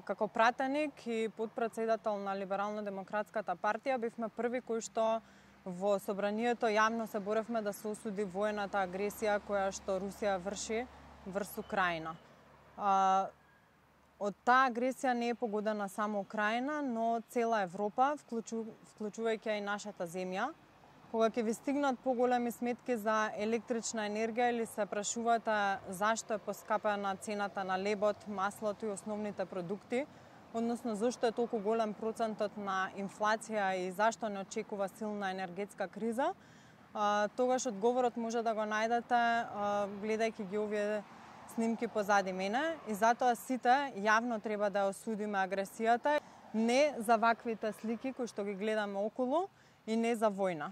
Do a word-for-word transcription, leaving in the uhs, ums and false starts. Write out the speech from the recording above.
како пратеник и подпредседател на Либерално-демократската партија бивме први кои што во собранието јавно се боревме да се осуди воената агресија која што Русија врши врз Украина. Од таа агресија не е погодена само Украина, но цела Европа, вклучу, вклучувајќи и нашата земја. Кога ќе ви стигнат поголеми сметки за електрична енергија или се прашувате зашто е поскапена цената на лебот, маслото и основните продукти, односно зашто е толку голем процентот на инфлација и зашто не очекува силна енергетска криза, тогаш одговорот може да го најдете гледајќи ги овие снимки позади мене, и затоа сите јавно треба да осудиме агресијата, не за ваквите слики кои што ги гледаме околу и не за војна.